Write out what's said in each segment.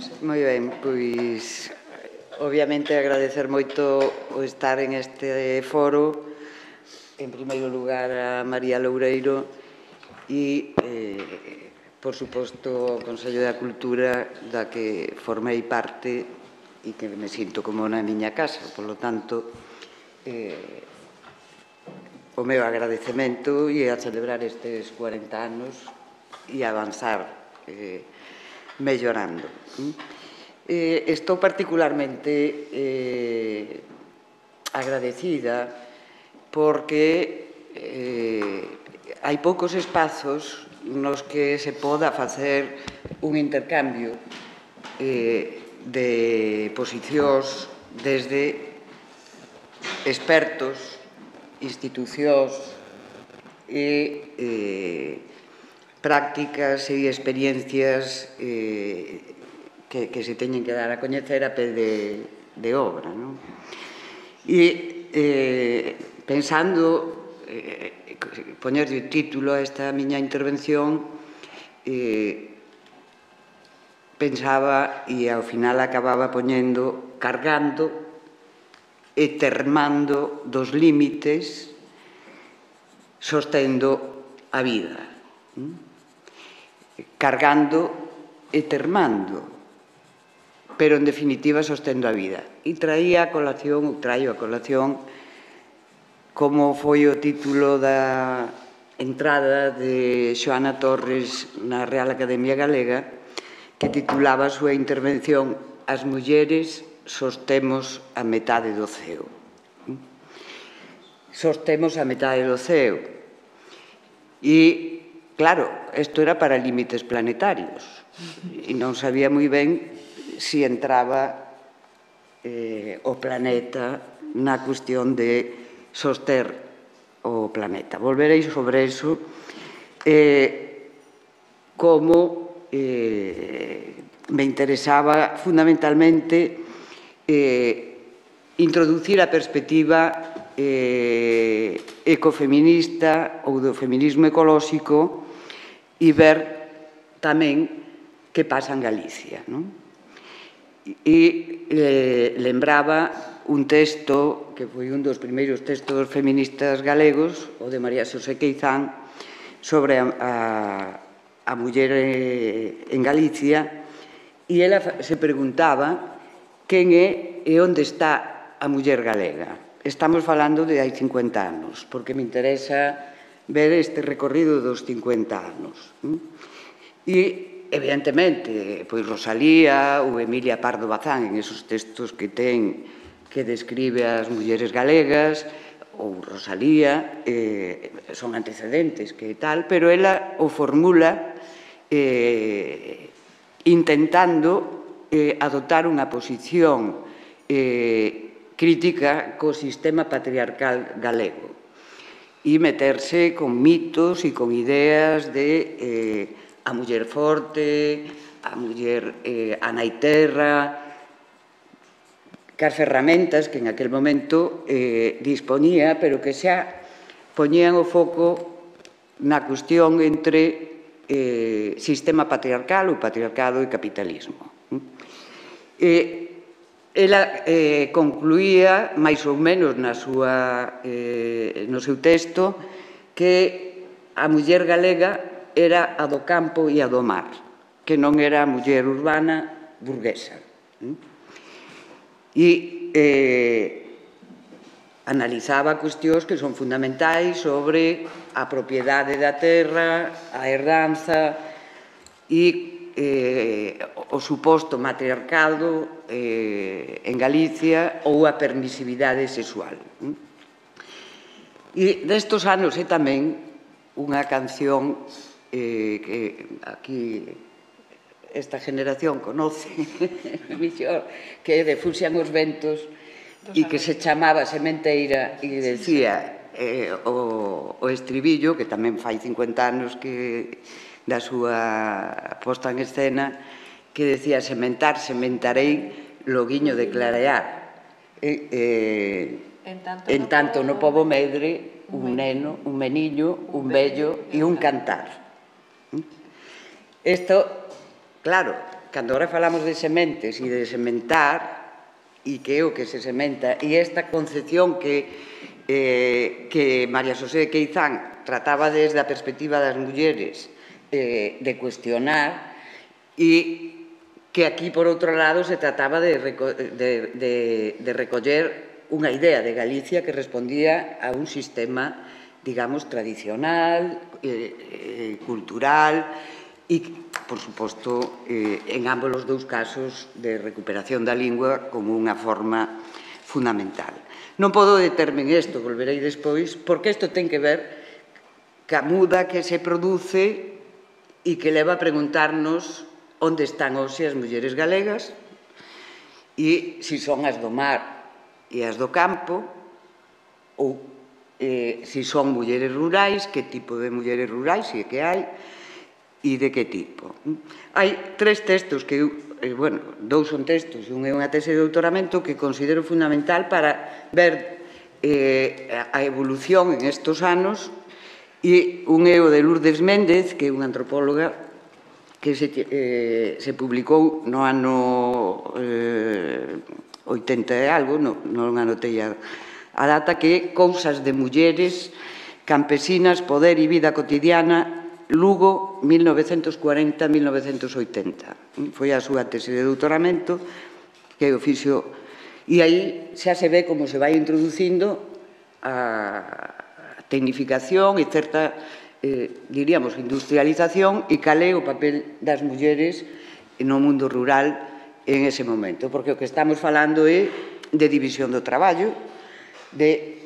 Moi ben, pois obviamente agradecer moito o estar en este foro. En primeiro lugar a María Loureiro e, por suposto, o Consello da Cultura da que formei parte e que me sinto como na miña casa. Por lo tanto, o meu agradecemento e a celebrar estes 40 anos e avanzar mellorando. Estou particularmente agradecida porque hai poucos espazos nos que se poda facer un intercambio de posicións desde expertos, institucións e prácticas e experiencias que se teñen que dar a coñecer a pé de obra. E pensando, poñerlle título a esta miña intervención, pensaba e ao final acababa poñendo cargando e termando dos límites sostendo a vida. Cargando e termando, pero en definitiva sostendo a vida. E traio a colación, como foi o título da entrada de Xoana Torres na Real Academia Galega, que titulaba a súa intervención "As mulleres sostemos a metade do ceo". Sostemos a metade do ceo. E, claro, isto era para límites planetarios. E non sabía moi ben se entraba o planeta na cuestión de soster o planeta. Volverei sobre iso como me interesaba fundamentalmente introducir a perspectiva ecofeminista ou do feminismo ecolóxico e ver tamén que pasa en Galicia. E lembraba un texto que foi un dos primeiros textos feministas galegos, o de María Xosé Queizán, sobre a muller en Galicia, e ela se preguntaba quen é e onde está a muller galega. Estamos falando de hai 50 anos, porque me interesa ver este recorrido dos 50 anos. E, evidentemente, pois Rosalía ou Emilia Pardo Bazán, en esos textos que ten que describe as mulleres galegas, ou Rosalía, son antecedentes que tal, pero ela o formula intentando adoptar unha posición crítica co sistema patriarcal galego e meterse con mitos e con ideas de a muller forte, a muller a nai terra, que as ferramentas que en aquel momento disponía, pero que xa poñían o foco na cuestión entre sistema patriarcal, o patriarcado e capitalismo. Ela concluía, máis ou menos no seu texto, que a muller galega era a do campo e a do mar, que non era a muller urbana burguesa. E analizaba cuestións que son fundamentais sobre a propiedade da terra, a herdanza e o suposto matriarcado en Galicia ou a permisividade sexual. E destos anos é tamén unha canción que aquí esta generación conoce mellor, que é de Fuxian os ventos e que se chamaba Sementeira e decía o estribillo, que tamén fai 50 anos que da súa posta en escena, que decía: sementar, sementarei, loguiño de clarear. En tanto no pobo medre, un neno, un meniño, un vello e un cantar. Isto, claro, cando agora falamos de sementes e de sementar, e que é o que se sementa, e esta concepción que María Xosé Queizán trataba desde a perspectiva das mulleres de cuestionar, e que aquí, por outro lado, se trataba de recoller unha idea de Galicia que respondía a un sistema, digamos, tradicional, cultural, e, por suposto, en ambos os dous casos de recuperación da lingua como unha forma fundamental. Non podo determe en isto, volverei despois, porque isto ten que ver ca muda que se produce e que leva a preguntarnos onde están hoxe as mulleres galegas e se son as do mar e as do campo, ou se son mulleres rurais, que tipo de mulleres rurais e que hai, e de que tipo. Hai tres textos que, bueno, dous son textos e un é unha tese de doutoramento que considero fundamental para ver a evolución en estes anos, e un é o de Lourdes Méndez, que é unha antropóloga que se publicou no ano 80 e algo, non anotei a data, que é Cousas de mulleres, campesinas, poder e vida cotidiana, Lugo, 1940-1980. Foi a súa tese de doutoramento, que o fixo, e aí xa se ve como se vai introducindo a tecnificación e certa, diríamos, industrialización, e cal é o papel das mulleres no mundo rural en ese momento, porque o que estamos falando é de división do traballo, de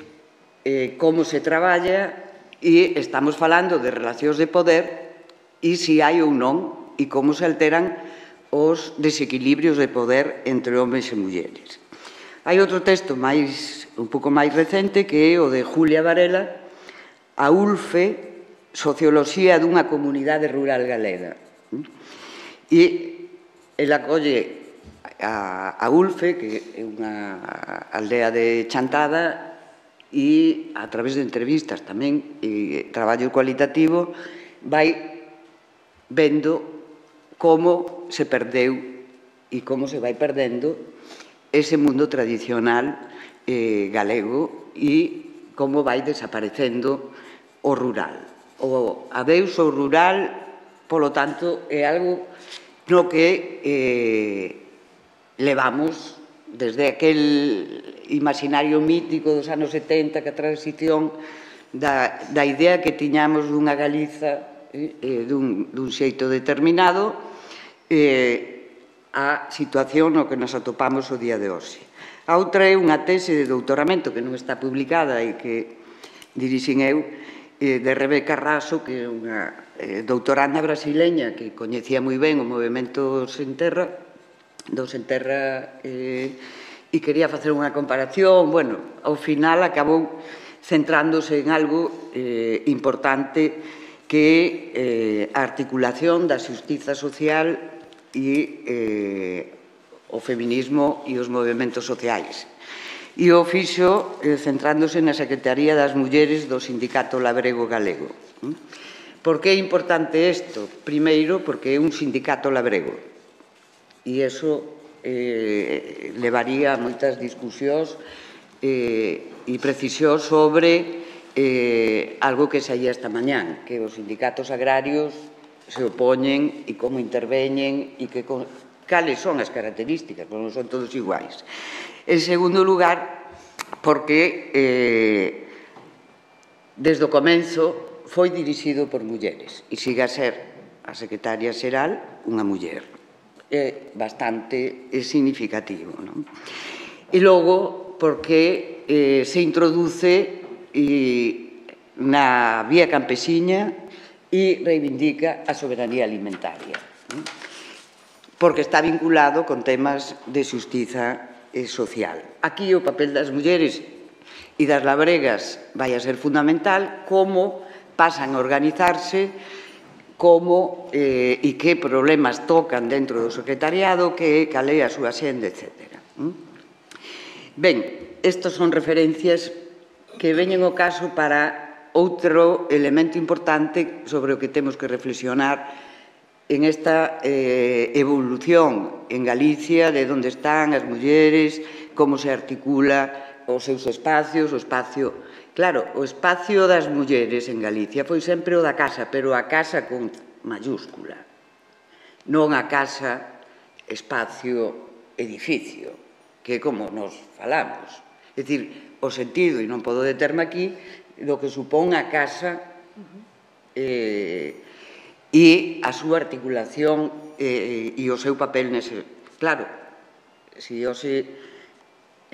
como se traballa, e estamos falando de relacións de poder e se hai ou non e como se alteran os desequilibrios de poder entre homes e mulleres. Hai outro texto un pouco máis recente que é o de Julia Varela, A ULFE, Socioloxía dunha comunidade rural galega. E ela colle a ULFE, que é unha aldea de Chantada, e a través de entrevistas tamén e traballo cualitativo vai vendo como se perdeu e como se vai perdendo ese mundo tradicional galego e como vai desaparecendo o rural. O adeus ao rural, polo tanto, é algo no que levamos desde aquel imaginario mítico dos anos 70, que a transición da idea que tiñamos dunha Galiza dun xeito determinado a situación no que nos atopamos o día de hoxe. A outra é unha tese de doutoramento que non está publicada e que dirixín eu, de Rebeca Raso, que é unha doutoranda brasileña que coñecía moi ben o movimento Sen Terra, do Sen Terra, e quería facer unha comparación. Bueno, ao final acabou centrándose en algo importante que é a articulación da xustiza social e o feminismo e os movimentos sociais. E o fixo centrándose na Secretaría das Mulleres do Sindicato Labrego Galego. Por que é importante isto? Primeiro, porque é un sindicato labrego. E iso levaría a moitas discusións e precisións sobre algo que saía esta mañán, que os sindicatos agrarios se opoñen e como interveñen e cales son as características, porque non son todos iguais. En segundo lugar, porque desde o comenzo foi dirixido por mulleres e sigue a ser a secretaria xeral unha muller. É bastante significativo, non? E logo, porque se introduce na vía campesiña e reivindica a soberanía alimentaria, porque está vinculado con temas de xustiza social. Aquí o papel das mulleres e das labregas vai a ser fundamental, como pasan a organizarse, como e que problemas tocan dentro do secretariado, cal é a súa xenda, etc. Ben, estes son referencias que veñen ao caso para outro elemento importante sobre o que temos que reflexionar en esta evolución en Galicia de onde están as mulleres, como se articula os seus espacios, o espacio... Claro, o espacio das mulleres en Galicia foi sempre o da casa, pero a casa con mayúscula, non a casa, espacio, edificio, que é como nos falamos. É dicir, o sentido, e non podo determe aquí, do que supón a casa e a súa articulación e o seu papel nese... Claro, se hoxe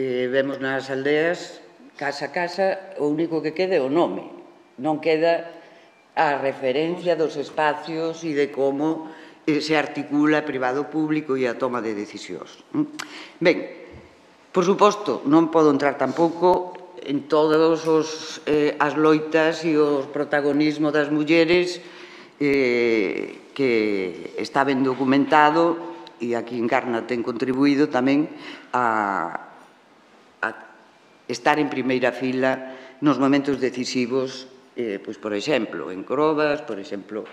vemos nas aldeas, casa a casa, o único que queda é o nome. Non queda a referencia dos espacios e de como se articula privado público e a toma de decisións. Ben, por suposto, non podo entrar tampouco en todas as loitas e o protagonismo das mulleres que está ben documentado, e aquí Encarna ten contribuído tamén a estar en primeira fila nos momentos decisivos, pois, por exemplo, en Crobas, por exemplo,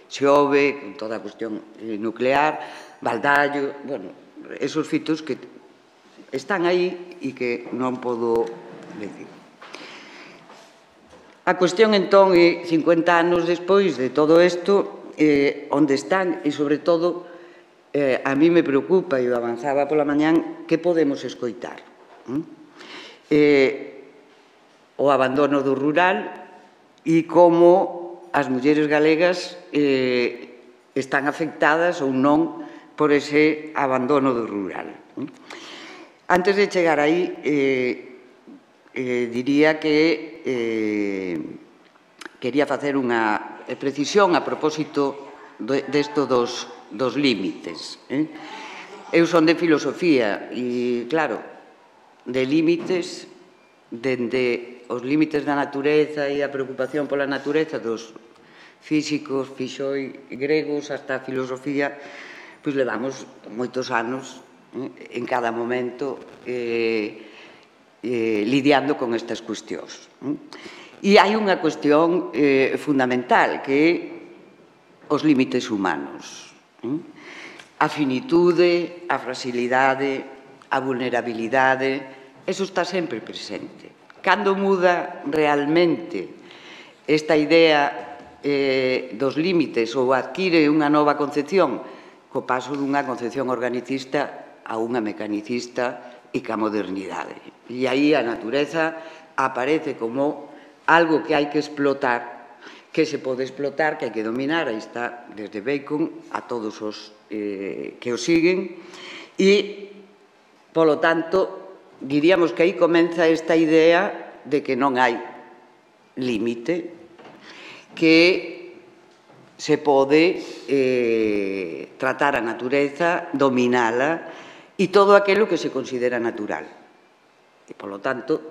Xove, con toda a cuestión nuclear, Baldallo, bueno, esos fitos que están aí e que non podo decir. A cuestión, entón, é 50 anos despois de todo isto, onde están, e, sobre todo, a mí me preocupa, e o avanzaba pola mañán, que podemos escoitar. O abandono do rural e como as mulleres galegas están afectadas ou non por ese abandono do rural. Antes de chegar aí, diría que quería facer unha precisión a propósito desto dos límites. Eu son de filosofía e, claro, de límites, dende os límites da natureza e a preocupación pola natureza dos físicos, fixoi gregos, hasta a filosofía, pois levamos moitos anos en cada momento lidiando con estas cuestións. E hai unha cuestión fundamental, que é os límites humanos. A finitude, a fragilidade, a vulnerabilidade, eso está sempre presente. Cando muda realmente esta idea dos límites ou adquire unha nova concepción, co paso dunha concepción organicista a unha mecanicista e ca modernidade. E aí a natureza aparece como algo que hai que explotar, que se pode explotar, que hai que dominar, aí está desde Bacon a todos os que o siguen, e, polo tanto, diríamos que aí comeza esta idea de que non hai límite, que se pode tratar a natureza, dominala, e todo aquilo que se considera natural. E, polo tanto,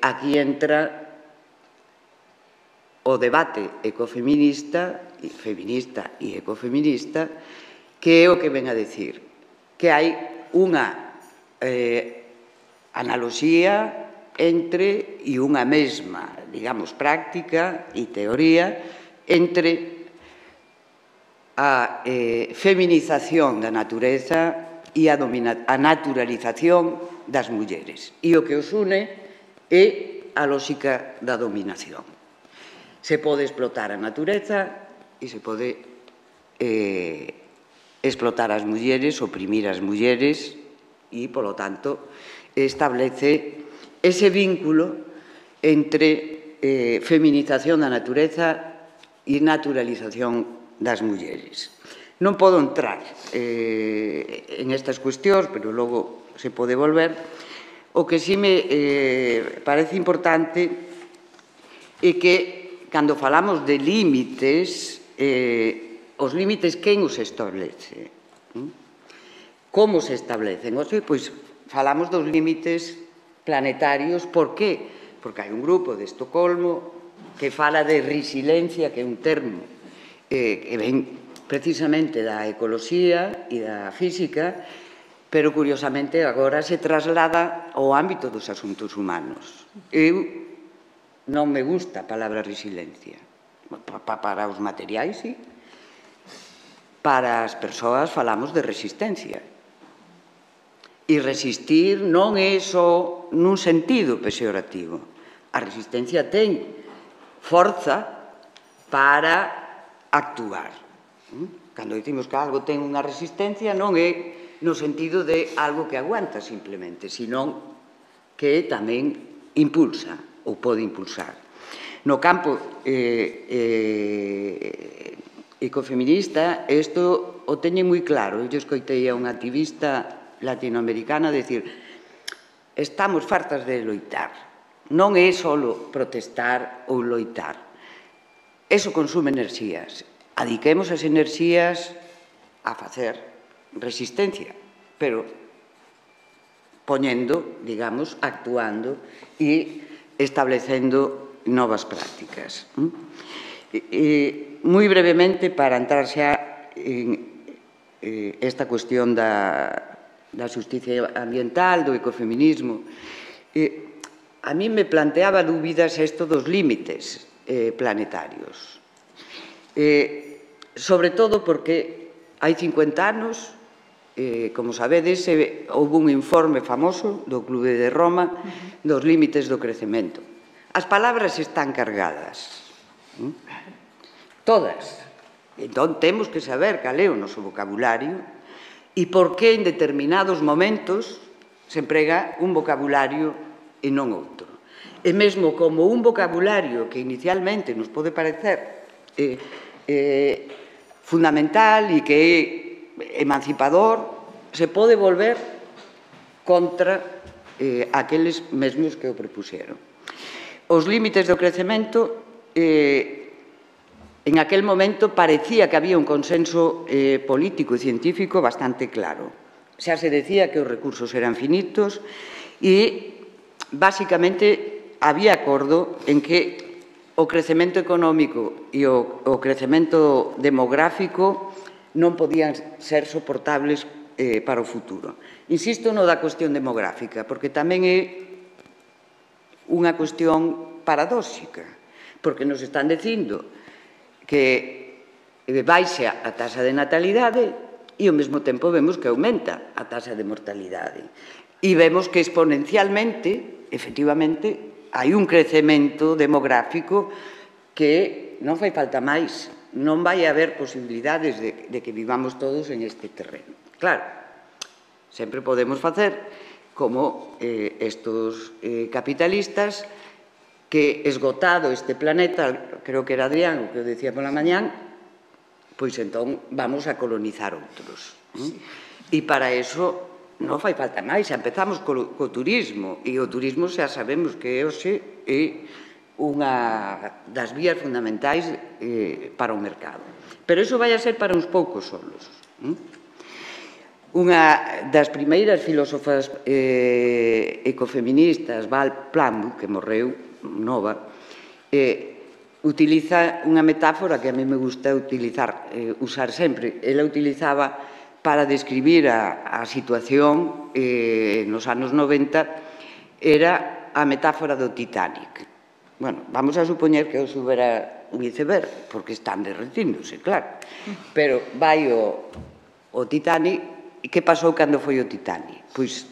aquí entra o debate ecofeminista, feminista e ecofeminista, que é o que ven a decir, que hai unha analoxía entre e unha mesma, digamos, práctica e teoría entre a feminización da natureza e a naturalización das mulleres. E o que os une é a lógica da dominación. Se pode explotar a natureza e se pode explotar as mulleres, oprimir as mulleres e, polo tanto, establece ese vínculo entre feminización da natureza e naturalización das mulleres. Non podo entrar en estas cuestións, pero logo se pode volver. O que si me parece importante é que, cando falamos de límites, os límites quen os establece? Como se establecen? Pois falamos dos límites planetarios. Por qué? Porque hai un grupo de Estocolmo que fala de resiliencia, que é un termo que ven precisamente da ecoloxía e da física, pero curiosamente agora se traslada ao ámbito dos asuntos humanos. Eu non me gusta a palabra resiliencia. Para os materiais, sí, para as persoas falamos de resistencia. E resistir non é só nun sentido peyorativo. A resistencia ten forza para actuar. Cando dicimos que algo ten unha resistencia non é no sentido de algo que aguanta simplemente, senón que tamén impulsa ou pode impulsar. No campo ecofeminista, isto o teñen moi claro. Eu escoitei a unha activista latinoamericana decir: estamos fartas de loitar. Non é só protestar ou loitar. Eso consume enerxías. Adiquemos as enerxías a facer resistencia, pero poñendo, digamos, actuando e establecendo novas prácticas. Moi brevemente, para entrar xa en esta cuestión da xusticia ambiental, do ecofeminismo, a mí me planteaba dúbidas isto dos límites planetarios. Sobre todo porque hai 50 anos, como sabedes, houve un informe famoso do Clube de Roma dos límites do crecemento. As palabras están cargadas, todas. Entón, temos que saber cal é o noso vocabulario e por que en determinados momentos se emprega un vocabulario e non outro. E mesmo como un vocabulario que inicialmente nos pode parecer fundamental e que é emancipador, se pode volver contra aqueles mesmos que o propuxeron. Os límites do crecemento, en aquel momento parecía que había un consenso político e científico bastante claro. Xa se decía que os recursos eran finitos e, basicamente, había acordo en que o crecemento económico e o crecemento demográfico non podían ser soportables para o futuro. Insisto no da cuestión demográfica, porque tamén é unha cuestión paradóxica, porque nos están dicindo que baixa a taxa de natalidade e ao mesmo tempo vemos que aumenta a taxa de mortalidade. E vemos que exponencialmente, efectivamente, hai un crecemento demográfico que non fai falta máis. Non vai haber posibilidades de que vivamos todos en este terreno. Claro, sempre podemos facer como estos capitalistas que, esgotado este planeta, creo que era Adrián o que o decía pola mañán, pois entón vamos a colonizar outros. E para eso non fai falta máis, xa empezamos co turismo, e o turismo xa sabemos que hoxe é unha das vías fundamentais para o mercado. Pero iso vai a ser para uns poucos solos. Unha das primeiras filósofas ecofeministas, Val Plumwood, que morreu nova, utiliza unha metáfora que a mí me gusta usar sempre. Ela utilizaba para describir a situación nos anos 90, era a metáfora do Titanic. Bueno, vamos a supoñer que hoxe houbera un iceberg, porque están derretíndose, claro. Pero vai o Titanic, e que pasou cando foi o Titanic? Pois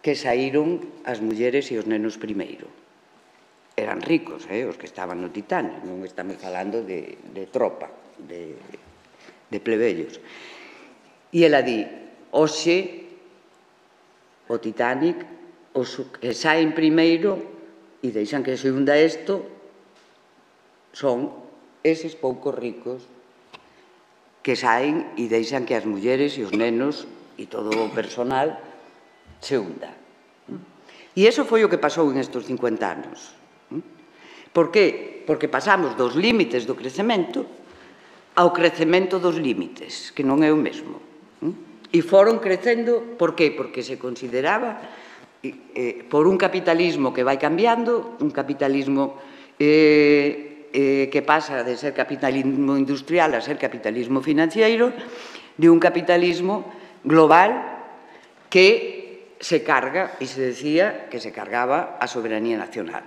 que saíron as mulleres e os nenos primeiro. Eran ricos, os que estaban no Titanic, non estamos falando de tropa, de plebellos. E ela di, hoxe, o Titanic, os que saen primeiro e deixan que se hunda isto, son eses poucos ricos que saen e deixan que as mulleres e os nenos e todo o personal se hunda. E iso foi o que pasou en estes 50 anos. Por que? Porque pasamos dos límites do crecemento ao crecemento dos límites, que non é o mesmo. E foron crecendo, por qué? Porque se consideraba, por un capitalismo que vai cambiando, un capitalismo que pasa de ser capitalismo industrial a ser capitalismo financiero, de un capitalismo global que se carga, e se decía que se cargaba a soberanía nacional.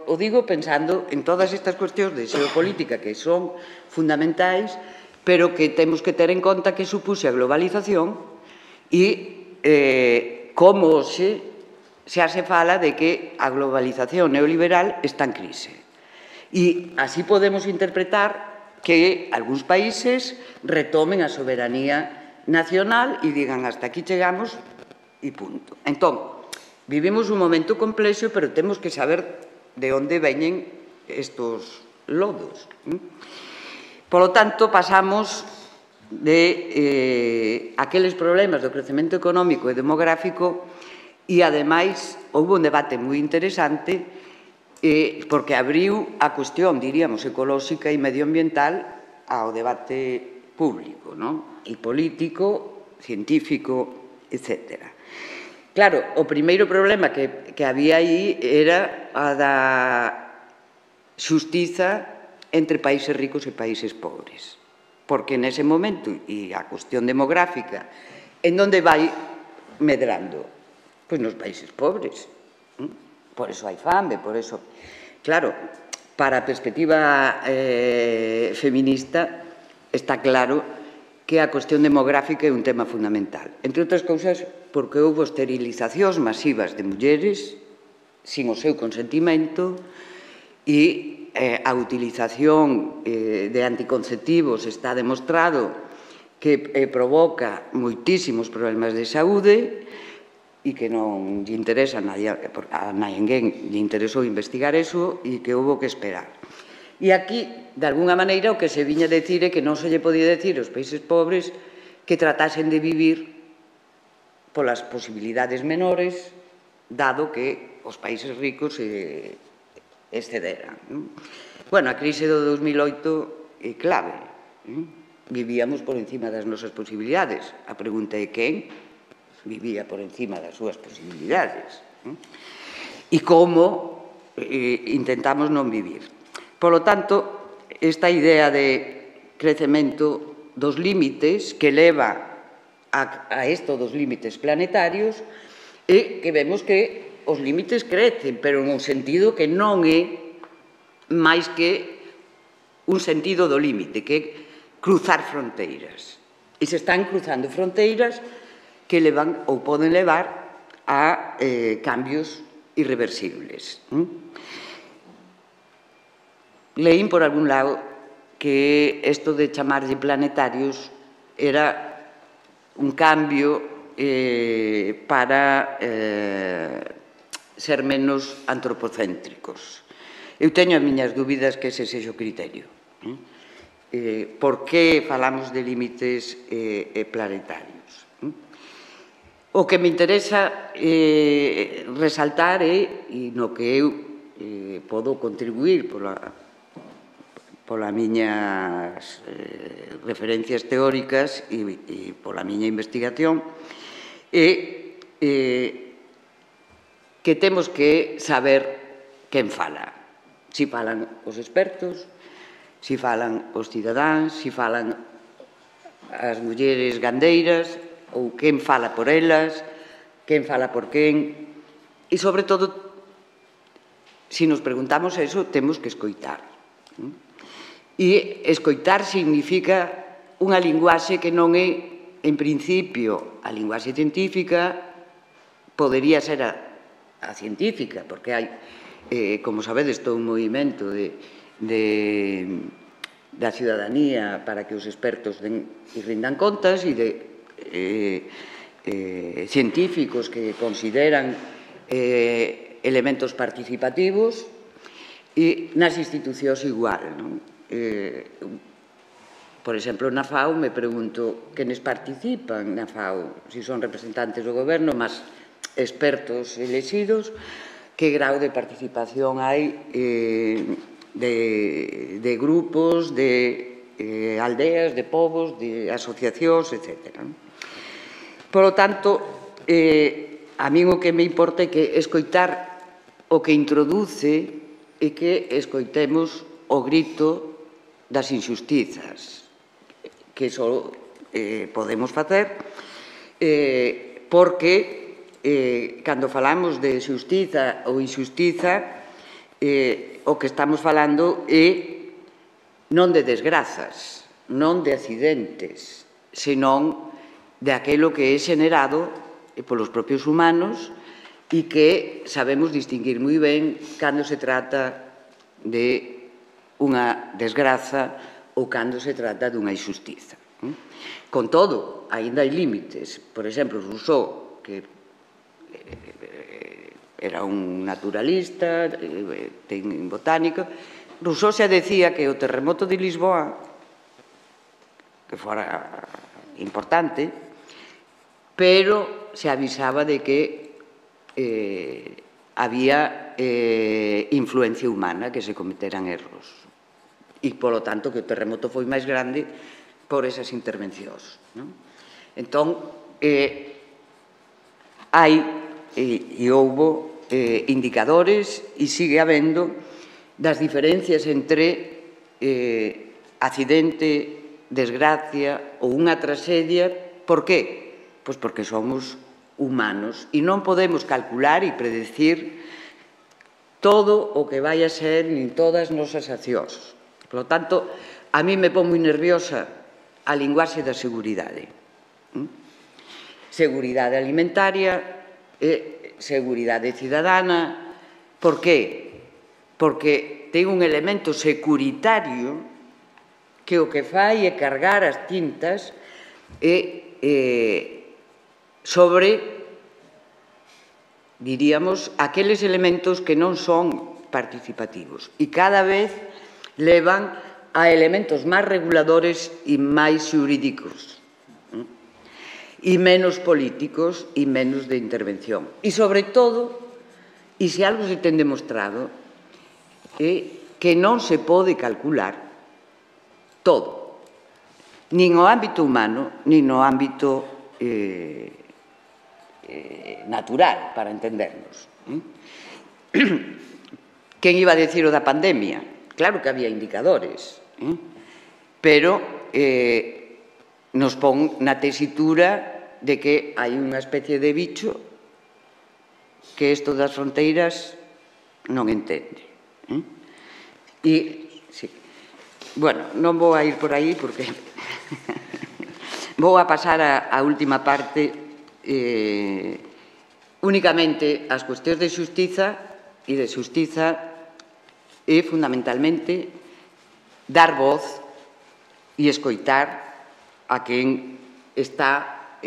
O digo pensando en todas estas cuestións de xeopolítica que son fundamentais pero que temos que ter en conta que supuxe a globalización e como hoxe xa se fala de que a globalización neoliberal está en crise. E así podemos interpretar que algúns países retomen a soberanía nacional e digan hasta aquí chegamos e punto. Entón, vivimos un momento complexo, pero temos que saber de onde veñen estos lodos. Polo tanto, pasamos de aqueles problemas do crecemento económico e demográfico e, ademais, houve un debate moi interesante porque abriu a cuestión, diríamos, ecolóxica e medioambiental ao debate público, e político, científico, etc. Claro, o primeiro problema que había aí era a da xustiza entre países ricos e países pobres. Porque nese momento, e a cuestión demográfica, en onde vai medrando? Pois nos países pobres. Por eso hai fame, por eso... Claro, para a perspectiva feminista está claro que a cuestión demográfica é un tema fundamental. Entre outras cousas, porque houve esterilizacións masivas de mulleres sin o seu consentimento e a utilización de anticonceptivos está demostrado que provoca moitísimos problemas de saúde e que non lle interesa a ninguén lle interesou investigar eso e que houve que esperar. E aquí, de alguna maneira, o que se viña a decir é que non se lle podía decir aos países pobres que tratasen de vivir polas posibilidades menores, dado que os países ricos excederan. Bueno, a crise do 2008 é clave. Vivíamos por encima das nosas posibilidades. A pregunta é quen vivía por encima das súas posibilidades. E como intentamos non vivir. Polo tanto, esta idea de crecemento dos límites que leva a isto dos límites planetarios é que vemos que os límites crecen, pero en un sentido que non é máis que un sentido do límite, que é cruzar fronteiras. E se están cruzando fronteiras que levan ou poden levar a cambios irreversibles. Leín por algún lado que isto de chamarlle planetarios era un cambio para ser menos antropocéntricos. Eu teño as miñas dúbidas que ese sexa o criterio. Por que falamos de límites planetarios? O que me interesa resaltar é, e no que eu podo contribuir polas miñas referencias teóricas e pola miña investigación, é que temos que saber quen fala. Si falan os expertos, si falan os cidadáns, si falan as mulleres gandeiras, ou quen fala por elas, quen fala por quen. E, sobre todo, si nos preguntamos eso, temos que escoitar. E escoitar significa unha linguaxe que non é, en principio, a linguaxe científica, podería ser a científica, porque hai, como sabedes, todo un movimento da ciudadanía para que os expertos rindan contas e de científicos que consideran elementos participativos e nas institucións igual. Por exemplo, na FAO me pregunto quenes participan na FAO, se son representantes do goberno, mas expertos elexidos, que grau de participación hai de grupos, de aldeas, de povos, de asociacións, etc. Por lo tanto, a min o que me importa é que escoitar o que introduce e que escoitemos o grito das injustizas, que só podemos facer porque cando falamos de xustiza ou injustiza o que estamos falando é non de desgrazas, non de accidentes, senón de aquilo que é xenerado polos propios humanos e que sabemos distinguir moi ben cando se trata de unha desgraza ou cando se trata dunha injustiza. Con todo, aínda hai límites. Por exemplo, Rousseau, que era un naturalista, ten botánico, Rousseau xa decía que o terremoto de Lisboa, que fora importante, pero se avisaba de que había influencia humana, que se cometeran erros. E, polo tanto, que o terremoto foi máis grande por esas intervencións. Entón, hai e houbo indicadores e sigue habendo das diferencias entre accidente, desgracia ou unha traxedia. Por qué? Pois porque somos humanos e non podemos calcular e predecir todo o que vai a ser nin todas as nosas accións. Por lo tanto, a mí me pon moi nerviosa a linguaxe da seguridade. Seguridade alimentaria e seguridade cidadana. Por qué? Porque ten un elemento securitario que o que fai é cargar as tintas sobre, diríamos, aqueles elementos que non son participativos e cada vez levan a elementos máis reguladores e máis xurídicos e menos políticos e menos de intervención. E, sobre todo, e se algo se ten demostrado, é que non se pode calcular todo, nin o ámbito humano, nin no ámbito natural, para entendernos. Quen iba a decir o da pandemia? Claro que había indicadores, pero nos pon na tesitura de que hai unha especie de bicho que isto das fronteiras non entende. E, sí, bueno, non vou a ir por aí porque vou a pasar á última parte, únicamente as cuestións de xustiza e de xustiza é fundamentalmente dar voz e escoitar a quen está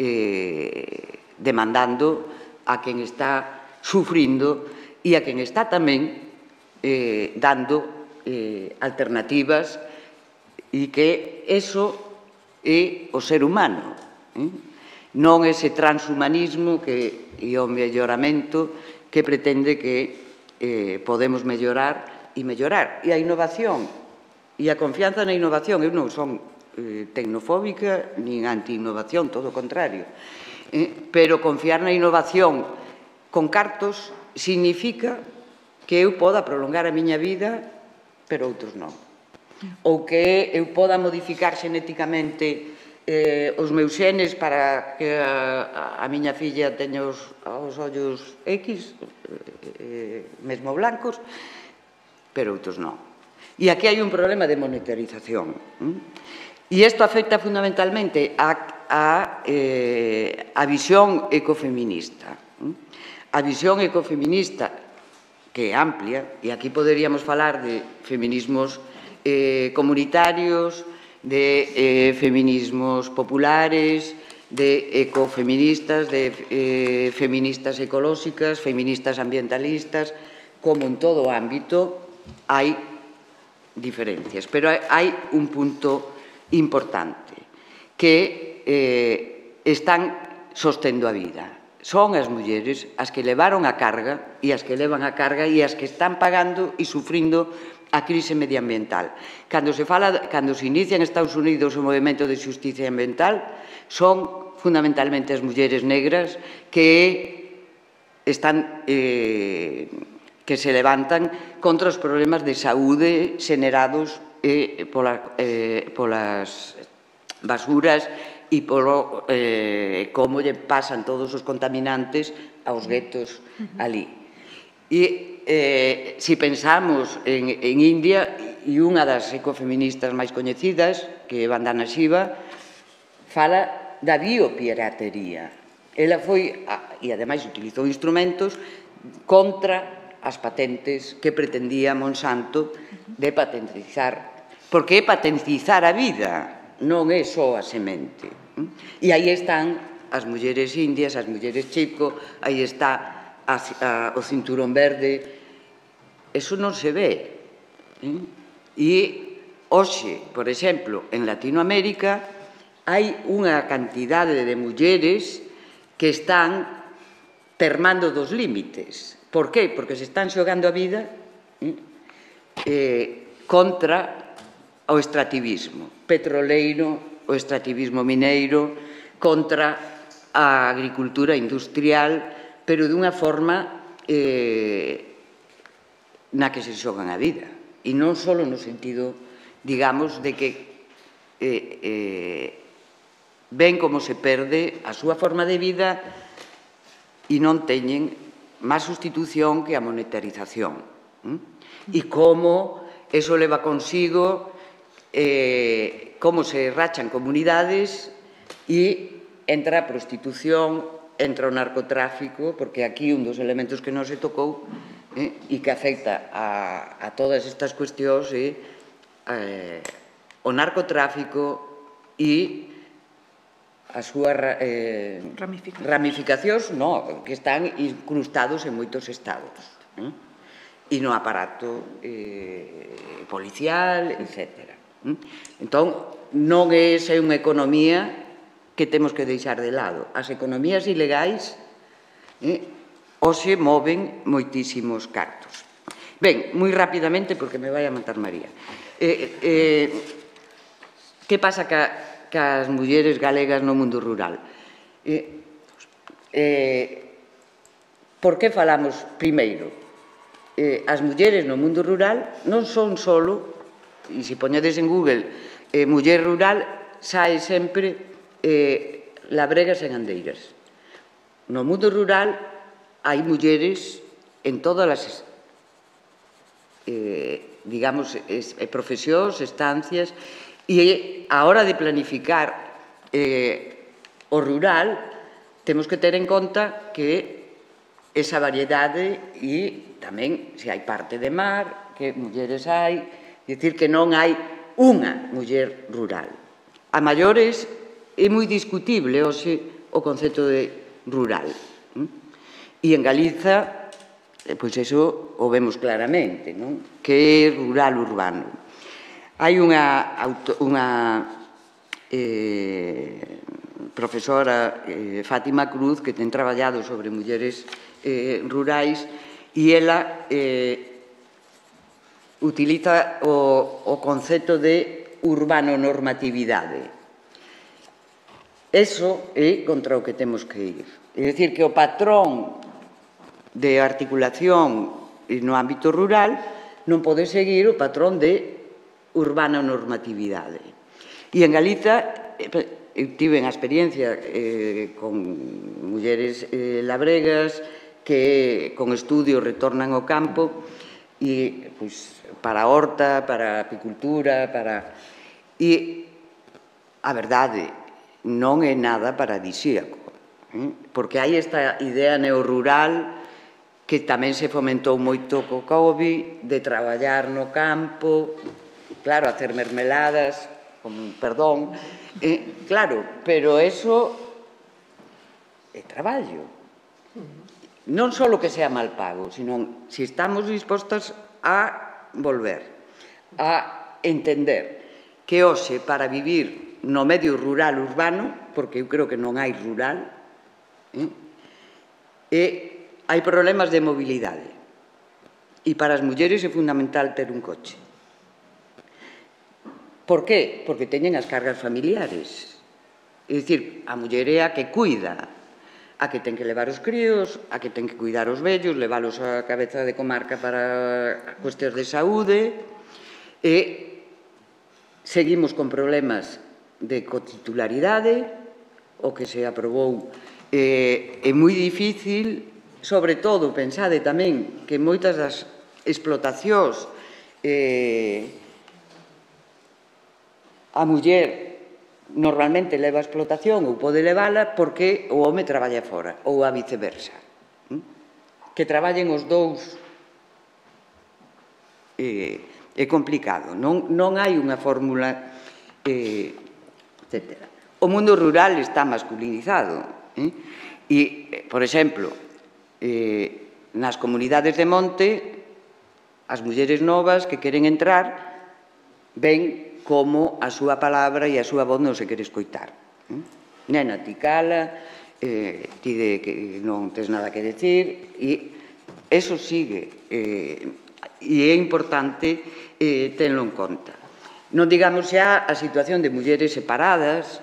demandando, a quen está sufrindo e a quen está tamén dando alternativas, e que eso é o ser humano, non ese transhumanismo e o melloramento que pretende que podemos mellorar e mellorar. E a innovación e a confianza na innovación. Eu non son tecnofóbica nin anti-innovación, todo o contrario. Pero confiar na innovación con cartos significa que eu poda prolongar a miña vida, pero outros non. Ou que eu poda modificar xenéticamente os meus xenes para que a miña filla teña os ollos X, mesmo blancos, pero outros non. E aquí hai un problema de monetarización. E isto afecta fundamentalmente a visión ecofeminista. A visión ecofeminista, que é amplia, e aquí poderíamos falar de feminismos comunitarios, de feminismos populares, de ecofeministas, de feministas ecolóxicas, feministas ambientalistas, como en todo ámbito hai diferencias. Pero hai un punto importante, que están sostendo a vida. Son as mulleres as que levaron a carga e as que levan a carga e as que están pagando e sufrindo a crise medioambiental. Cando se inicia en Estados Unidos o movimento de xustiza ambiental, son fundamentalmente as mulleres negras que se levantan contra os problemas de saúde xenerados polas basuras e polo como lle pasan todos os contaminantes aos guetos ali. E se pensamos en India, e unha das ecofeministas máis coñecidas, que é Vandana Shiva, fala da biopiratería. Ela foi, e ademais utilizou instrumentos contra as patentes que pretendía Monsanto de patentizar, porque é patentizar a vida, non é só a semente. E aí están as mulleres indias, as mulleres chico, aí está o cinturón verde. Eso non se ve. E hoxe, por exemplo, en Latinoamérica hai unha cantidade de mulleres que están termando dos límites. Por qué? Porque se están xogando a vida contra o extractivismo petroleiro, o extractivismo mineiro, contra a agricultura industrial, pero dunha forma na que se xogan a vida. E non só no sentido, digamos, de que ven como se perde a súa forma de vida e non teñen máis sustitución que a monetarización. E como eso leva consigo como se rachan comunidades e entra a prostitución, entra o narcotráfico, porque aquí un dos elementos que non se tocou e que afecta a todas estas cuestións é o narcotráfico e as súas ramificacións que están incrustados en moitos estados e no aparato policial, etc. Entón, non é esa unha economía que temos que deixar de lado. As economías ilegais hoxe moven moitísimos cartos. Ben, moi rapidamente, porque me vai a matar María. Que pasa cas mulleres galegas no mundo rural? Por que falamos primeiro? As mulleres no mundo rural non son só, e se poñedes en Google muller rural, sae sempre labregas e gandeiras. No mundo rural hai mulleres en todas as digamos, profesións, estancias, e a hora de planificar o rural temos que ter en conta que esa variedade e tamén se hai parte de mar, que mulleres hai, dicir que non hai unha muller rural. A maiores é moi discutible hoxe o concepto de rural. E en Galiza, pois eso o vemos claramente, que é rural urbano. Hai unha profesora, Fátima Cruz, que ten traballado sobre mulleres rurais e ela utiliza o concepto de urbano-normatividade. Eso é contra o que temos que ir. É dicir, que o patrón de articulación no ámbito rural non pode seguir o patrón de urbano-normatividade. E en Galiza, eu tive a experiencia con mulleres labregas que con estudios retornan ao campo e para a horta, para a apicultura, e a verdade non é nada paradisíaco, porque hai esta idea neorrural que tamén se fomentou moito co COVID, de traballar no campo, claro, hacer mermeladas, con perdón, claro, pero eso é traballo. Non só que sea mal pago, sino se estamos dispostos a volver, a entender que hoxe para vivir no medio rural urbano, porque eu creo que non hai rural, hai problemas de mobilidade. E para as mulleres é fundamental ter un coche. Por qué? Porque teñen as cargas familiares. É dicir, a muller é a que cuida, a que ten que levar os críos, a que ten que cuidar os vellos, leválos á cabeza de comarca para cuestións de saúde, e seguimos con problemas de cotitularidade, o que se aprobou é moi difícil sobre todo, pensade tamén que moitas das explotacións a muller normalmente leva a explotación ou pode levala porque o home traballa fora, ou a viceversa. Que traballen os dous é complicado, non hai unha fórmula, etc. O mundo rural está masculinizado e, por exemplo, nas comunidades de monte, as mulleres novas que queren entrar ven como a súa palabra e a súa voz non se quere escoitar. Nena, ti cala, ti que non tes nada que decir, e eso sigue, e é importante tenlo en conta. Non digamos xa a situación de mulleres separadas,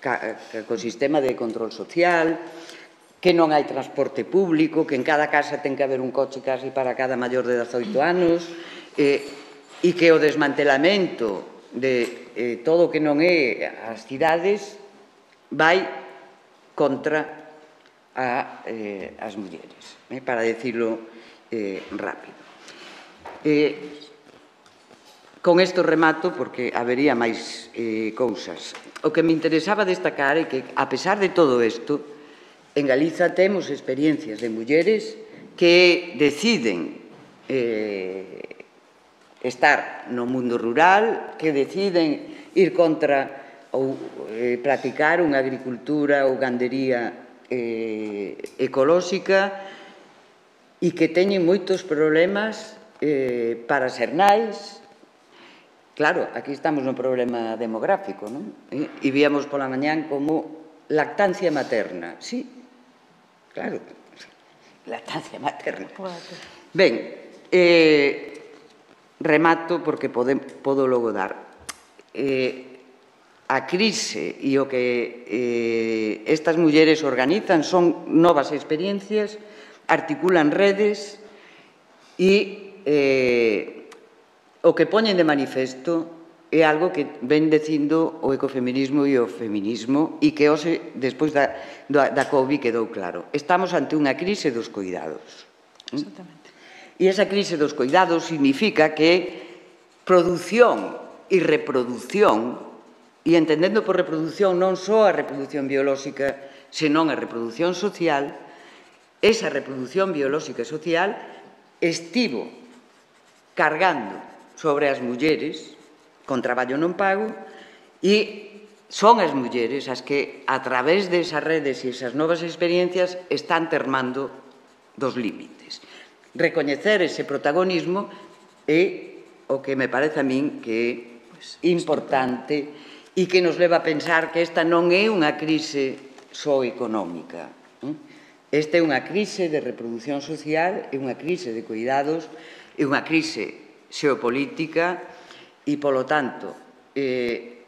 co sistema de control social, que non hai transporte público, que en cada casa ten que haber un coche casi para cada maior de 18 anos, e que o desmantelamento de todo o que non é as cidades vai contra as mulleres, para decirlo rápido. Con isto remato, porque habería máis cousas. O que me interesaba destacar é que, a pesar de todo isto, en Galiza temos experiencias de mulleres que deciden estar no mundo rural, que deciden ir contra ou practicar unha agricultura ou gandería ecolóxica e que teñen moitos problemas para ser nais. Claro, aquí estamos no problema demográfico, non? E víamos pola mañán como lactancia materna. Sí, claro, lactancia materna. Ben, remato porque podo logo dar. A crise e o que estas mulleres organizan son novas experiencias, articulan redes e o que poñen de manifesto é algo que ven dicindo o ecofeminismo e o feminismo e que hoxe, despois da COVID, quedou claro. Estamos ante unha crise dos coidados. Exactamente. E esa crise dos coidados significa que produción e reproducción, e entendendo por reproducción non só a reproducción biolóxica, senón a reprodución social, esa reproducción biolóxica e social estivo cargando sobre as mulleres con traballo non pago e son as mulleres as que, a través desas redes e esas novas experiencias, están termando dos límites. Recoñecer ese protagonismo é o que me parece a min que é importante e que nos leva a pensar que esta non é unha crise só económica. Esta é unha crise de reproducción social, é unha crise de cuidados, é unha crise xeopolítica e, polo tanto,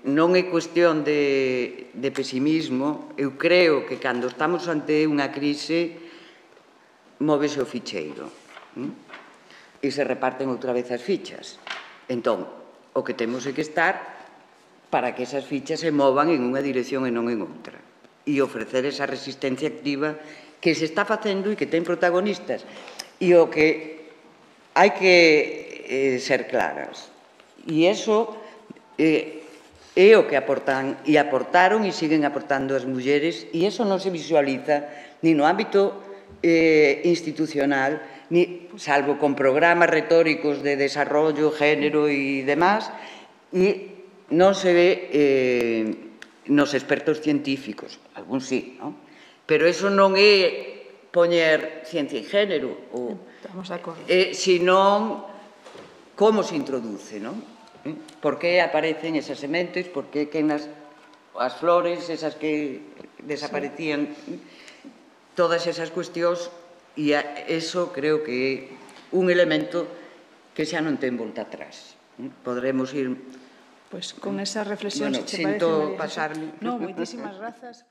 non é cuestión de pesimismo. Eu creo que cando estamos ante unha crise móvese o ficheiro e se reparten outra vez as fichas. Entón, o que temos é que estar para que esas fichas se movan en unha dirección e non en outra, e ofrecer esa resistencia activa que se está facendo e que ten protagonistas. E o que hai que ser claras. E iso é o que aportan e aportaron e siguen aportando as mulleres, e iso non se visualiza ni no ámbito institucional, salvo con programas retóricos de desarrollo, género e demás, e non se ve nos expertos científicos, algún sí, non? Pero iso non é poñer ciencia e género, senón como se introduce, non? Por que aparecen esas sementes, por que as flores, esas que desaparecían, todas esas cuestións, e eso creo que é un elemento que xa non ten volta atrás. Podremos ir... Pois con esa reflexión, se te parece, María Jesús. Non, moitísimas grazas.